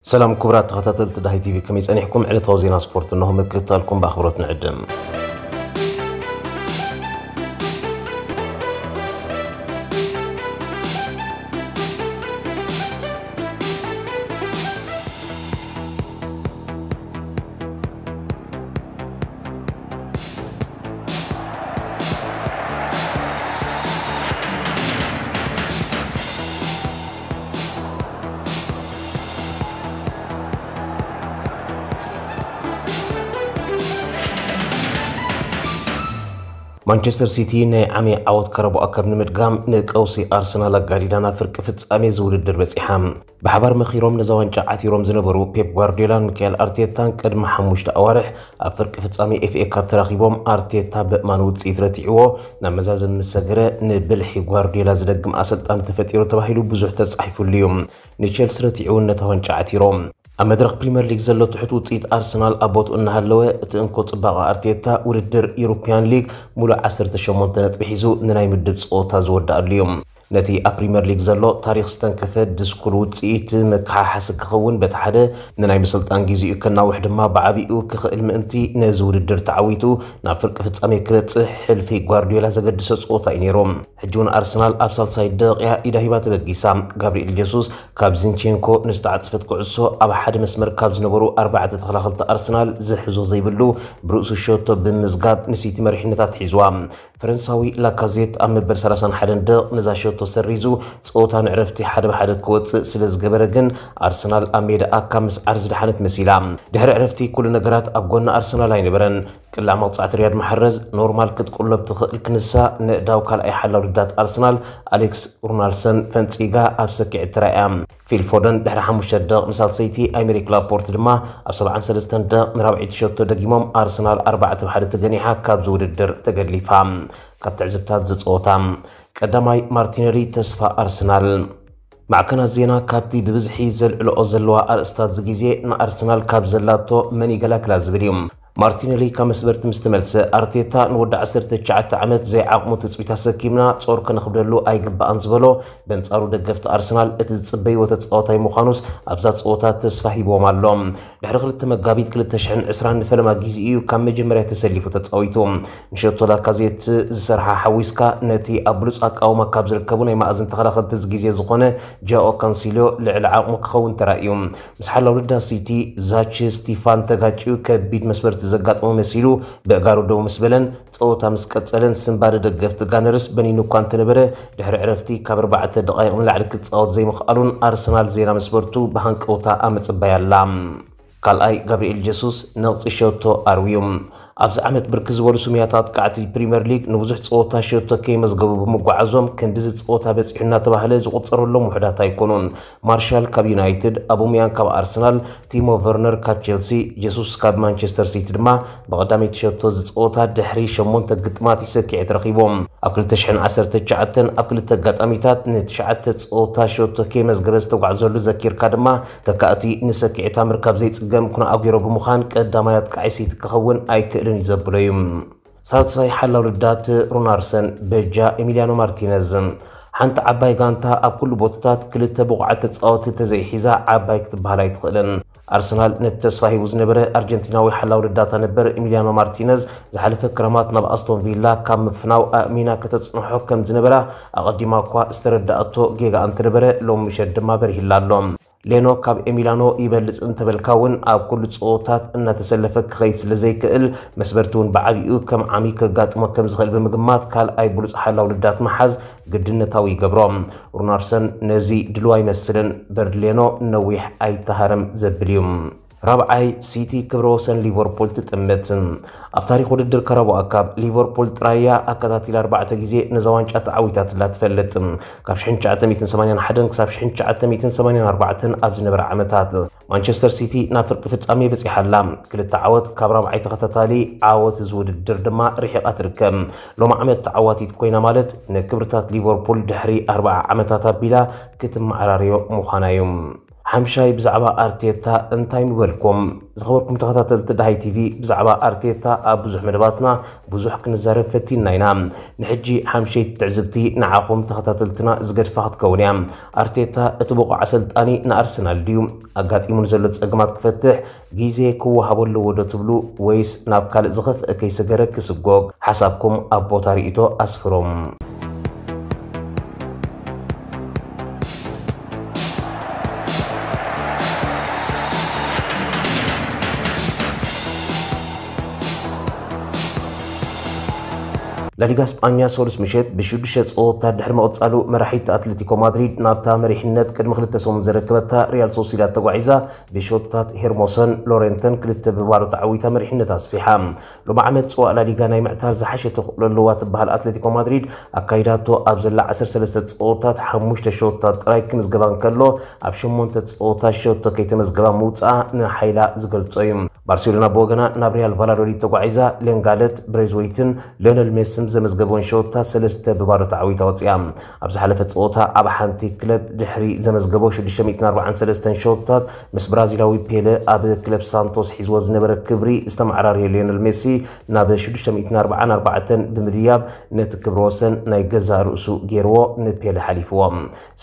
ሰላም ክቡራት ተኸታተልቲ ዳሂ ቲቪ፣ ከመይ ጸኒሕኩም? ዕለታዊ ዜና ስፖርት እንሆ ምክትታልኩም ብኣኽብሮት ንዕድም። ማንቸስተር ሲቲ ናይ ዓሚ ዓወት ካራባኦ ካፕ ንምድጋም ንቀውሲ ኣርሰናል ኣጋዲዳ ናብ ፍርቂ ፍጻሜ ዝውድድር በጺሓ። ብሓባር መኺሮም ነዛ ዋንጫ ዓቲሮም ዝነበሩ ፔፕ ጓርዲዮላን ሚካኤል ኣርቴታን ቅድሚ ሓሙሽተ ኣዋርሕ ኣብ ፍርቂ ፍጻሜ ኤፍኤ ካፕ ተራኺቦም፣ ኣርቴታ በእማን ውጽኢት ረቲዕዎ ናብ መዛዘሚ ምስ ሰገረ፣ ንብልሒ ጓርዲዮላ ዝደግም ኣሰልጣኒ ተፈጢሩ ተባሂሉ ብዙሕ ተጻሒፉሉ እዩ። ንቼልሲ ረቲዑ ነታ ዋንጫ ዓቲሮም። ኣብ መድረኽ ፕሪምየር ሊግ ዘሎ ትሑት ውጽኢት ኣርሰናል ኣብ ቦትኡ እናሃለወ፣ እቲ እንኮ ጽባቐ ኣርቴታ ውድድር ዩሮፕያን ሊግ ሙሉእ ዓሰርተ ሸሞንተ ነጥቢ ሒዙ ንናይ ምድብ ጸወታ ዝወድኣሉ እዩ። ነቲ ኣብ ፕሪምየር ሊግ ዘሎ ታሪኽ ዝተንከፈ ድስኩል ውጽኢት መከሓሓሲ ክኸውን በቲ ሓደ፣ ንናይ ምስልጣን ግዜኡ ከናውሕ ድማ ብዓቢኡ ክኽእል ምእንቲ፣ ነዚ ውድድር ተዓዊቱ ናብ ፍርቂ ፍጻሜ ክበጽሕ ሕልፊ ጓርዲዮላ ዘገድሶ ጸወታ እዩ ነይሩ። ሕጂ እውን ኣርሰናል ኣብ ሳልሳይ ደቂቃ ኢዳ ሂባ ተበጊሳ። ጋብሪኤል ጀሱስ ካብ ዚንቼንኮ ንዝተዓጽፈት ኩዕሶ ኣብ ሓደ መስመር ካብ ዝነበሩ ኣርባዕተ ተኸላኸልቲ ኣርሰናል ዝሕዞ ዘይብሉ ብርእሱ ሸቶ ብምዝጋብ ንሲቲ መሪሕነታ ኣትሒዝዋ። ፈረንሳዊ ላካዜት ኣብ መበል ሰላሳን ሓደን ደቕ ነዛ ሸቶ ሰሪዙ ጸወታ ንዕረፍቲ ሓደ ብሓደ ክወጽእ ስለ ዝገበረ ግን ኣርሰናል ኣብ ሜዳኣ ካብ ምስዓር ዝደሓነት መሲላ። ድሕሪ ዕረፍቲ ኩሉ ነገራት ኣብ ጎኒ ኣርሰናል ኣይነበረን። ቅላዕ መቕጻዕቲ ሪያድ ማሕረዝ ኖርማል ክትቁለብ ትኽእል ክንሳ ነእዳው ካልኣይ ሓላው ልዳት ኣርሰናል ኣሌክስ ሩናልሰን ፈንጺጋ ኣብ ሰኪዐት ተራእያ። ፊል ፎደን ድሕሪ ሓሙሽተ ደቕ ንሳልሰይቲ፣ ኣይሜሪክ ላፖርት ድማ ኣብ ሰብዓን ሰለስተን ደቕ ንራብዐይቲ ሸቶ ደጊሞም ኣርሰናል ኣርባዕተ ብሓደ ተገኒሓ ካብዚ ውድድር ተገሊፋ። ካብ ትዕዝብታት ዝጸወታ ቀዳማይ ማርቲነሊ ተስፋ ኣርሰናል። ማዕከናት ዜና ካብቲ ብብዝሒ ዘልዕልኦ ዘለዋ ኣርእስታት እዚ ግዜ ንኣርሰናል ካብ ዘላቶ መን ይገላግላ ዝብል እዩ። ማርቲነሊ ካብ መስበርቲ ምስ ተመልሰ፣ ኣርቴታ ንወዲ ዓሰርተ ትሽዓተ ዓመት ዘይዓቕሙ ትጽቢት ኣሰኪምና ጾር ከነኽብደሉ ኣይግባእን ዝበሎ፣ በንጻሩ ደገፍቲ ኣርሰናል እቲ ዝጽበይዎ ተጻዋታይ ምዃኑስ ኣብዛ ጸወታ ተስፋ ሂብዎም ኣሎ። ድሕሪ ክልተ መጋቢት ክልተ ሽሕን ዕስራን ንፈለማ ግዜ እዩ ካብ መጀመርያ ተሰሊፉ ተጻዊቱ። ንሸቶ ላካዜት ዝሰርሓ ሓዊስካ ነቲ ኣብ ብሉጽ ኣቃውማ ካብ ዝርከቡ ናይ ማእዝን ተኸላኸልቲ እዚ ግዜ ዝኾነ ጃኦ ካንሲልዮ ልዕሊ ዓቕሙ ክኸውን ተራእዩ። ምስ ሓላው ልዳ ሲቲ ዛቺ ስቲፋን ተጋጭዩ ከቢድ መስበርቲ ዘጋጠሞ መሲሉ ብእጋሩ ደው ምስ በለን ጸወታ ምስ ቀጸለን ስንባደ ደገፍቲ ጋነርስ በኒኑ እኳ እንተነበረ ድሕሪ ዕረፍቲ ካብ ኣርባዕተ ደቓይቕ ንላዕሊ ክጻወት ዘይምኽኣሉን ኣርሰናል ዜና መስበርቱ ብሃንቀውታ ኣብ ምጽባይ ኣላ። ካልኣይ ጋብሪኤል ጀሱስ ነቕጺ ሸቶ ኣርውዩ። ኣብዚ ዓመት ብርክት ዝበሉ ስሙያት ኣጥቃዕቲ ፕሪምየር ሊግ ንብዙሕ ጸወታ ሸቶ ከይመዝገቡ ብምጓዓዞም ክንድዚ ጸወታ በጺሑ እናተባህለ ዝቑጸረሎም ውሑዳት ኣይኮኑን። ማርሻል ካብ ዩናይትድ፣ ኣቡምያንግ ካብ ኣርሰናል፣ ቲሞ ቨርነር ካብ ቸልሲ፣ ጀሱስ ካብ ማንቸስተር ሲቲ ድማ ብቐዳመይቲ ሸቶ ዝጸወታ ድሕሪ ሸሞንተ ግጥማት እዩ ሰኪዐት ረኺቦም። ኣብ ክልተ ሽሕን ዓሰርተ ትሽዓተን ኣብ ክልተ ኣጋጣሚታት ንትሽዓተ ጸወታ ሸቶ ከይመዝገበ ዝተጓዕዘሉ ዘኪርካ ድማ ተካእቲ ንሰኪዐታ ምርካብ ዘይጽገም ኩነ ኣጉሮ ብምዃን ቀዳማይ ኣጥቃዒ ሲቲ ክኸውን ኣይክእልን እዩ ዘብሎ እዩ። ሳልሳይ ሓላው ልዳት ሩናርሰን በጃ ኤሚሊያኖ ማርቲነዝ። ሓንቲ ዓባይ ጋንታ ኣብ ኩሉ ቦታታት ክልተ ብቑዓት ተጻወቲ ተዘይሒዛ ዓባይ ክትበሃል ኣይትኽእልን። ኣርሰናል ነቲ ተስፋ ሂቡ ዝነበረ ኣርጀንቲናዊ ሓላው ልዳታ ነበር ኤሚሊያኖ ማርቲነዝ ዝሓለፈ ክረማት ናብ ኣስቶን ቪላ ካብ ምፍናው ኣእሚና ከተጽንሖ ከም ዝነበራ ኣቐዲማ እኳ ዝተረዳእቶ ጌጋ እንተነበረ ሎም ምሸት ድማ በሪሂላ ኣሎ። ሌኖ ካብ ኤሚላኖ ይበልጽ እንተበልካ እውን ኣብ ኩሉ ጸወታት እናተሰለፈ ክኸይድ ስለ ዘይክእል መስበርቲ እውን ብዓቢኡ ከም ዓሚ ከጋጥሞ ከም ዝኽእል ብምግማት ካልኣይ ብሉጽ ሓላው ልዳት ምሓዝ ግድነታዊ ይገብሮ። ሩናርሰን ነዚ ድልዋ ኣይመስልን። በርድሌኖ ነዊሕ ኣይተሃረም ዘብል እዩ። ራብዓይ ሲቲ ክብረ ወሰን ሊቨርፑል ትጥምት። ኣብ ታሪኽ ውድድር ካራባኦ ካፕ ሊቨርፑል ጥራያ ኣከታቲላ ኣርባዕተ ግዜ ነዛ ዋንጫ ተዓዊታትላ ትፈልጥ። ካብ ሽሕን ትሽዓተ ሚእትን ሰማንያን ሓደን ክሳብ ሽሕን ትሽዓተ ሚእትን ሰማንያን ኣርባዕተን ኣብ ዝነበረ ዓመታት ማንቸስተር ሲቲ ናብ ፍርቂ ፍጻሜ በጺሓ ኣላ። ክልተ ዓወት ካብ ራብዓይ ተኸታታሊ ዓወት እዚ ውድድር ድማ ርሒቓ ትርከብ። ሎም ዓመት ተዓዋቲት ኮይና ማለት ንክብርታት ሊቨርፑል ድሕሪ ኣርብዓ ዓመታት ኣቢላ ክትመዓራርዮ ምዃና እዩ። ሓምሻይ፣ ብዛዕባ ኣርቴታ እንታይ ምበልኩም? ዝኸበርኩም ተኸታተልቲ ደሃይ ቲቪ፣ ብዛዕባ ኣርቴታ ኣብ ብዙሕ መደባትና ብዙሕ ክንዛረብ ፈቲንና ኢና። ንሕጂ ሓምሸይቲ ትዕዝብቲ ንዓኹም ተኸታተልትና ዝገድፋ ክትከውን እያ። ኣርቴታ እቲ ብቑዕ ኣሰልጣኒ ንኣርሰናል ድዩ? ኣጋጢሙ ንዘሎ ጸገማት ክፈትሕ ግዜ ክወሃቦ ኣለዎ ዶ ትብሉ? ወይስ ናብ ካልእ ዝኸፍአ ከይሰገረ ክስጎግ? ሓሳብኩም ኣብ ቦታ ርእይቶ ኣስፍሩ። ላሊጋ ስጳኛ ሰሉስ ምሸት ብሽዱሽተ ጸወታ ድሕሪ ምቕጻሉ፣ መራሒት ኣትሌቲኮ ማድሪድ ናብታ መሪሕነት ቅድሚ ክልተ ሰሙን ዘረከበታ ሪያል ሶሲዳድ ተጓዒዛ፣ ብሾታት ሄርሞሰን ሎሬንተን ክልተ ብባዶ ተዓዊታ መሪሕነት ኣስፊሓ። ሎሚ ዓመት ጽዋእ ላሊጋ ናይ ምዕታር ዝሓሸ ተኽእሎ ኣለዋ ትበሃል ኣትሌቲኮ ማድሪድ፣ ኣካይዳቶ ኣብ ዘላ ዓሰርተ ሰለስተ ጸወታት ሓሙሽተ ሾታት ጥራይ ክምዝገባ እንከሎ፣ ኣብ ሸሞንተ ጸወታት ሸቶ ከይተመዝገባ ምውጽኣ ንሓይላ ዝገልጾ እዩ። ባርሴሎና ብወገና ናብ ሪያል ቫላዶሊድ ተጓዒዛ፣ ሌንጋለት ብሬዝወይትን ሊዮነል ሜስን ዘመዝገበውን ሸወታት ሰለስተ ብባዶ ተዓዊታ ወፂኣ። ኣብ ዝሓለፈ ፀወታ ኣብ ሓንቲ ክለብ ድሕሪ ዘመዝገቦ ሽዱሽተ ሚእትን ኣርባዓን ሰለስተን ሸወታት ምስ ብራዚላዊ ፔለ ኣብ ክለብ ሳንቶስ ሒዝዎ ዝነበረ ክብሪ ዝተመዓራረየ ሊዮነል ሜሲ ናብ ሽዱሽተ ሚእትን ኣርባዓን ኣርባዕተን ብምድያብ ነቲ ክብረ ወሰን ናይ ገዛእ ርእሱ ገይርዎ ንፔለ ሓሊፍዎ።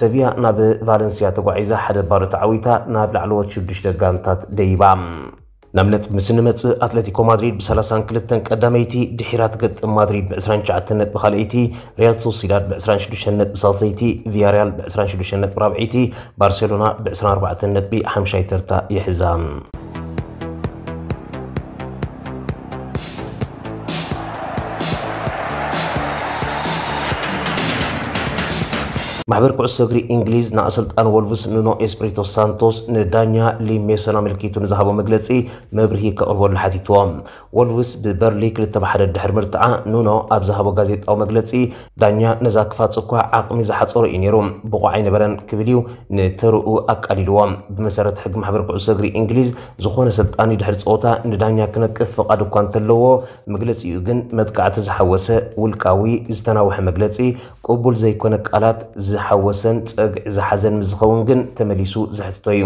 ሰቪያ ናብ ቫለንሲያ ተጓዒዛ ሓደ ባዶ ተዓዊታ ናብ ላዕለዎት ሽዱሽተ ጋንታት ደይባ። ናብ ነጥቢ ምስ እንመጽእ፣ ኣትለቲኮ ማድሪድ ብ ሰላሳን ክልተን ቀዳመይቲ ድሒራ ትገጥም፣ ማድሪድ ብ ዕስራን ትሽዓተን ነጥቢ ካልኣይቲ፣ ሪያል ሶሲዳድ ብ ዕስራን ሽዱሽተን ነጥቢ ሳልሰይቲ፣ ቪያሪያል ብ ዕስራን ሽዱሽተን ነጥቢ ራብዐይቲ፣ ባርሴሎና ብ ዕስራን ኣርባዕተን ነጥቢ ሓምሻይ ተርታ ይሕዛ። ማሕበር ኩዕሶ እግሪ እንግሊዝ ንኣሰልጣን ወልቭስ ኑኖ ኤስፕሪቶ ሳንቶስ ንዳኛ ሊም ሜሰን ኣመልኪቱ ንዝሃቦ መግለጺ መብርሂ ከቕርበሉ ሓቲትዎ። ወልቭስ ብበርሊ ክልተ ብ ሓደ ድሕሪ ምርትዓ፣ ኑኖ ኣብ ዝሃቦ ጋዜጣዊ መግለጺ፣ ዳኛ ነዛ ክፋጽ እኳ ዓቕሚ ዝሓጸሮ እዩ ነይሩ፣ ብቑዕ ኣይነበረን ክብል እዩ ንተርኡ ኣቃሊልዎ። ብመሰረት ሕጊ ማሕበር ኩዕሶ እግሪ እንግሊዝ፣ ዝኾነ ሰልጣኒ ድሕሪ ጸወታ ንዳኛ ክነቅፍ ፍቓድ እኳ እንተለዎ፣ መግለጺኡ ግን መጥቃዕቲ ዝሓወሰ ውልቃዊ ዝተናውሐ መግለጺ፣ ቅቡል ዘይኮነ ቃላት ዝሓወሰን ጸግዒ ዝሓዘን ምስ ዝኸውን ግን ተመሊሱ ዝሕትቶ እዩ።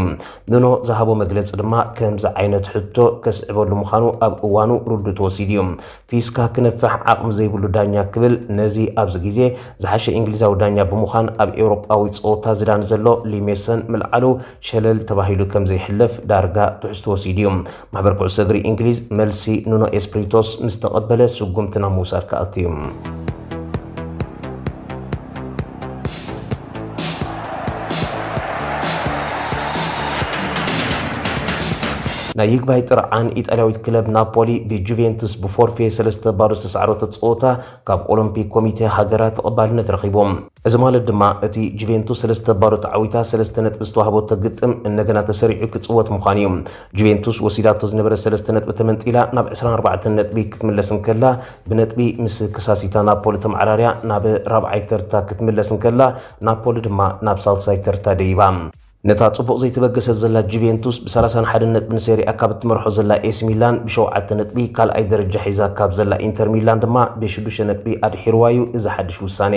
ኑኖ ዝሃቦ መግለጺ ድማ ከምዚ ዓይነት ሕቶ ከስዕበሉ ምዃኑ ኣብ እዋኑ ርዱእ ተወሲዱ እዩ። ፊስካ ክነፍሕ ዓቕሚ ዘይብሉ ዳኛ ክብል ነዚ ኣብዚ ግዜ ዝሓሸ እንግሊዛዊ ዳኛ ብምዃን ኣብ ኤውሮጳዊ ጸወታ ዝዳኒ ዘሎ ሊሜሰን ምልዓሉ ሸለል ተባሂሉ ከም ዘይሕለፍ ዳርጋ ትሕዝቶ ወሲዱ እዩ። ማሕበር ኩዕሶ እግሪ እንግሊዝ መልሲ ኑኖ ኤስፕሪቶስ ምስ ተቐበለ ስጉምቲ ናብ ምውሳድ ክኣቱ እዩ። ናይ ይግባይ ጥርዓን ኢጣልያዊት ክለብ ናፖሊ ብጁቬንቱስ ብፎርፌ ሰለስተ ባዶ ዝተሳዕረቶ ጸወታ ካብ ኦሎምፒክ ኮሚቴ ሃገራ ተቐባልነት ረኺቡ። እዚ ማለት ድማ እቲ ጁቬንቱስ ሰለስተ ባዶ ተዓዊታ ሰለስተ ነጥቢ ዝተዋህበቶ ግጥም እንደገና ተሰሪዑ ክጽወት ምዃኑ እዩ። ጁቬንቱስ ወሲዳቶ ዝነበረ ሰለስተ ነጥቢ ተመንጢላ ናብ ዕስራን ኣርባዕተን ነጥቢ ክትምለስ እንከላ፣ ብነጥቢ ምስ ከሳሲታ ናፖሊ ተመዓራርያ ናብ ራብዓይ ተርታ ክትምለስ እንከላ፣ ናፖሊ ድማ ናብ ሳልሳይ ተርታ ደይባ። ነታ ጽቡቕ ዘይተበገሰት ዘላ ጁቬንቱስ ብ ሰላሳን ሓደን ነጥቢ ንሴሪኣ ካብ እትመርሖ ዘላ ኤሲ ሚላን ብሸውዓተ ነጥቢ ካልኣይ ደረጃ ሒዛ ካብ ዘላ ኢንተር ሚላን ድማ ብሽዱሽተ ነጥቢ ኣድሒርዋ እዩ እዚ ሓድሽ ውሳኔ።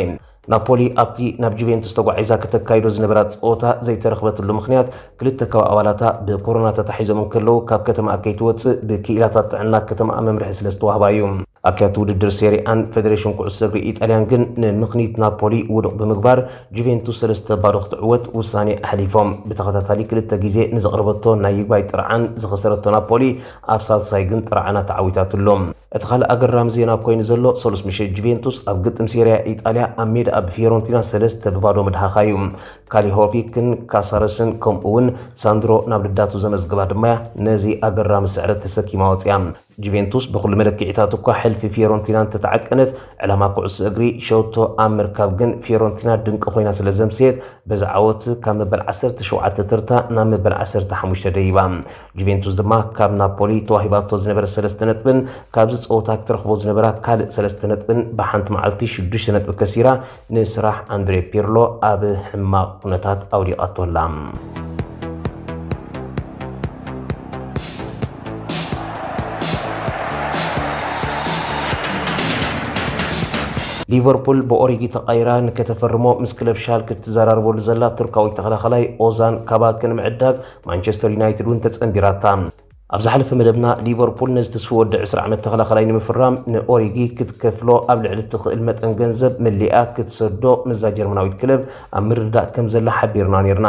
ናፖሊ ኣብቲ ናብ ጁቬንቱስ ተጓዒዛ ከተካይዶ ዝነበራ ጸወታ ዘይተረኽበትሉ ምኽንያት ክልተ ካብ ኣባላታ ብኮሮና ተታሒዞም እንከለዉ ካብ ከተማኣ ከይትወጽእ ብክኢላታት ጥዕና ከተማኣ መምርሒ ስለ ዝተዋህባ እዩ። ኣካየድቲ ውድድር ሴሪኣን ፌደሬሽን ኩዕሶ እግሪ ኢጣልያን ግን ንምኽኒት ናፖሊ ውዱቕ ብምግባር ጁቬንቱስ ሰለስተ ባዶ ክትዕወት ውሳኔ ኣሕሊፎም። ብተኸታታሊ ክልተ ግዜ ንዘቕረበቶ ናይ ይግባይ ጥርዓን ዝኸሰረቶ ናፖሊ ኣብ ሳልሳይ ግን ጥርዓና ተዓዊታትሉ። እቲ ካልእ ኣገራሚ ዜና ኮይኑ ዘሎ ሰሉስ ምሸት ጁቬንቱስ ኣብ ግጥም ሴሪያ ኢጣልያ ኣብ ሜዳ ኣብ ፊዮረንቲና ሰለስተ ብባዶ ምድሃኻ እዩ። ካሊሆቪክን ካሳረስን ከምኡ እውን ሳንድሮ ናብ ልዳቱ ዘመዝግባ ድማ ነዚ ኣገራሚ ስዕረት ተሰኪማ ወፅያ። ጁቬንቱስ ብኹሉ መለክዒታት እኳ ሕልፊ ፊዮረንቲና እንተተዓቀነት፣ ዕላማ ኩዕሶ እግሪ ሸቶ ኣብ ምርካብ ግን ፊዮረንቲና ድንቂ ኮይና ስለ ዘምሰየት፣ በዚ ዓወት ካብ መበል ዓሰርተ ሸውዓተ ተርታ ናብ መበል ዓሰርተ ሓሙሽተ ደይባ። ጁቬንቱስ ድማ ካብ ናፖሊ ተዋሂባቶ ዝነበረ ሰለስተ ነጥብን ካብዚ ጸወታ ክትረኽቦ ዝነበራ ካልእ ሰለስተ ነጥብን ብሓንቲ መዓልቲ ሽዱሽተ ነጥቢ ከሲራ ንስራሕ ኣንድሬ ፒርሎ ኣብ ሕማቕ ኩነታት ኣውዲቓቶ ኣላ። ሊቨርፑል ብኦሪጊ ተቓይራ ንከተፈርሞ ምስ ክለብ ሻልክ ትዘራርበሉ ዘላ ቱርካዊ ተኸላኸላይ ኦዛን ካባክ ንምዕዳግ ማንቸስተር ዩናይትድ እውን ተጸንቢራታ። ኣብ ዝሓለፈ መደብና ሊቨርፑል ነዚ ትስፉ ወዲ ዕስራ ዓመት ተኸላኸላይ ንምፍራም ንኦሪጊ ክትከፍሎ ኣብ ልዕሊ እትኽእል መጠን ገንዘብ መሊኣ ክትሰዶ ምስዛ ጀርመናዊት ክለብ ኣብ ምርድዳእ ከም ዘላ ሓቢርና ነርና።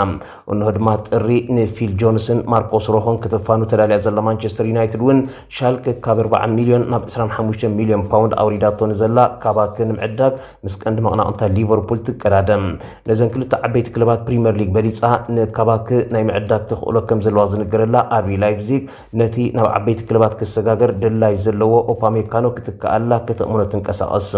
እንሆ ድማ ጥሪ ንፊል ጆንስን ማርኮስ ሮሆን ከተፋኑ ተዳልያ ዘላ ማንቸስተር ዩናይትድ እውን ሻልክ ካብ ኣርባዓ ሚልዮን ናብ ዕስራን ሓሙሽተን ሚልዮን ፓውንድ ኣውሪዳቶ ንዘላ ካባክ ንምዕዳግ ምስ ቀንዲ መቕናቕንታ ሊቨርፑል ትቀዳደም። ነዘን ክልተ ዓበይቲ ክለባት ፕሪምየር ሊግ በሊጻ ንካባክ ናይ ምዕዳግ ተኽእሎ ከም ዘለዋ ዝንገረላ ኣርቢ ላይፕዚግ ነቲ ናብ ዓበይቲ ክለባት ክሰጋገር ድላይ ዘለዎ ኦፓሜካኖ ክትከኣላ ከተእምኖ ትንቀሳቐስ።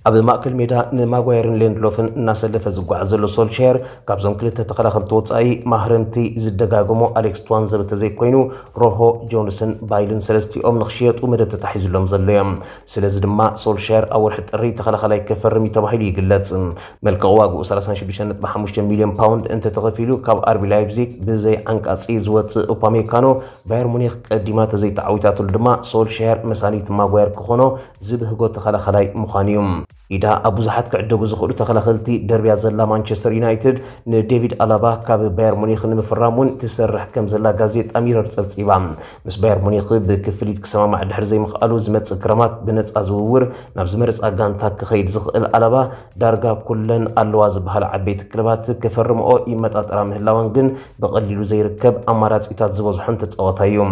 ኣብ ማእከል ሜዳ ንማጓየርን ሌንድሎፍን እናሰለፈ ዝጓዓዝ ዘሎ ሶልሻየር ካብዞም ክልተ ተኸላኸልቲ ወጻኢ ማህረምቲ ዝደጋገሞ ኣሌክስ ትዋንዘብ እንተዘይኮይኑ ሮሆ፣ ጆንስን ባይልን ሰለስቲኦም ንኽሽየጡ መደብ ተታሒዙሎም ዘሎ እዮም። ስለዚ ድማ ሶልሻየር ኣብ ወርሒ ጥሪ ተኸላኸላይ ከፈርም እዩ ተባሂሉ ይግለጽ። መልቀቕ ዋግኡ ሰላሳ ሽዱሽተ ነጥቢ ሓሙሽተ ሚልዮን ፓውንድ እንተተኸፊሉ ካብ ኣርቢ ላይፕዚግ ብዘይ ዓንቃጺ ዝወጽእ ኡፓሜካኖ ባየር ሙኒክ ቀዲማ ተዘይተዓዊታትሉ ድማ ሶልሻየር መሳኒት ማጓየር ክኾኖ ዝብህጎ ተኸላኸላይ ምዃኑ እዩ። ኢዳ ኣብ ብዙሓት ክዕደጉ ዝኽእሉ ተኸላኸልቲ ደርብያ ዘላ ማንቸስተር ዩናይትድ ንዴቪድ ኣላባ ካብ ባየር ሙኒክ ንምፍራም እውን ትሰርሕ ከም ዘላ ጋዜጣ ሚረር ጸብጺባ። ምስ ባየር ሙኒክ ብክፍሊት ክሰማማዕ ድሕሪ ዘይምኽኣሉ ዝመጽእ ክረማት ብነጻ ዝውውር ናብ ዝመረጻ ጋንታ ክኸይድ ዝኽእል ኣላባ ዳርጋ ኩለን ኣለዋ ዝበሃላ ዓበይቲ ክለባት ክፈርምኦ ይመጣጠራ ምህላወን ግን ብቐሊሉ ዘይርከብ ኣማራጺታት ዝበዝሖን ተጻዋታይ እዩ።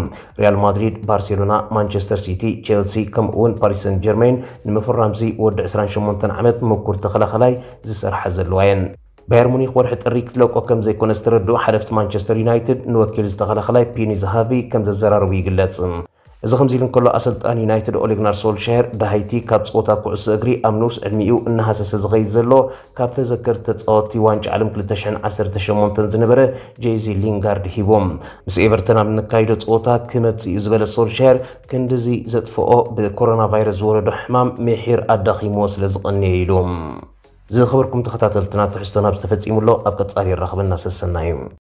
ሪያል ማድሪድ፣ ባርሴሎና፣ ማንቸስተር ሲቲ፣ ቼልሲ ከምኡ እውን ፓሪስ ሰን ጀርሜን ንምፍራምዚ ወዲ ዕስራን ሸሞንተን ዓመት ምኩር ተኸላኸላይ ዝሰርሓ ዘለዋ እየን። ባየር ሙኒክ ወርሒ ጥሪ ክትለቆ ከም ዘይኮነ ዝተረድኡ ሓለፍቲ ማንቸስተር ዩናይትድ ንወኪል ዝተኸላኸላይ ፒኒ ዝሃቪ ከም ዘዘራረቡ ይግለጽ። እዚ ከምዚ ኢሉ እንከሎ ኣሰልጣኒ ዩናይትድ ኦሌግናር ሶልሻየር ዳሃይቲ ካብ ጸወታ ኩዕሶ እግሪ ኣብ ንኡስ ዕድሚኡ እናሃሰሰ ዝኸይድ ዘሎ ካብ ተዘከርቲ ተጻወትቲ ዋንጫ ዓለም ክልተ ሽሕን ዓሰርተ ሸሞንተን ዝነበረ ጄዚ ሊንጋርድ ሂቦም። ምስ ኤቨርተን ኣብ እንካይዶ ጸወታ ክመጽእ እዩ ዝበለ ሶልሻየር ክንድዚ ዘጥፍኦ ብኮሮና ቫይረስ ዝወረዶ ሕማም ምሒር ኣዳኺምዎ ስለ ዝቐንየ ኢሉ። ዝኸበርኩም ተኸታተልትና ትሕዝቶና ኣብዚ ተፈጺሙ ኣሎ። ኣብ ቀጻሊ የራኽበና ሰሰናዩ።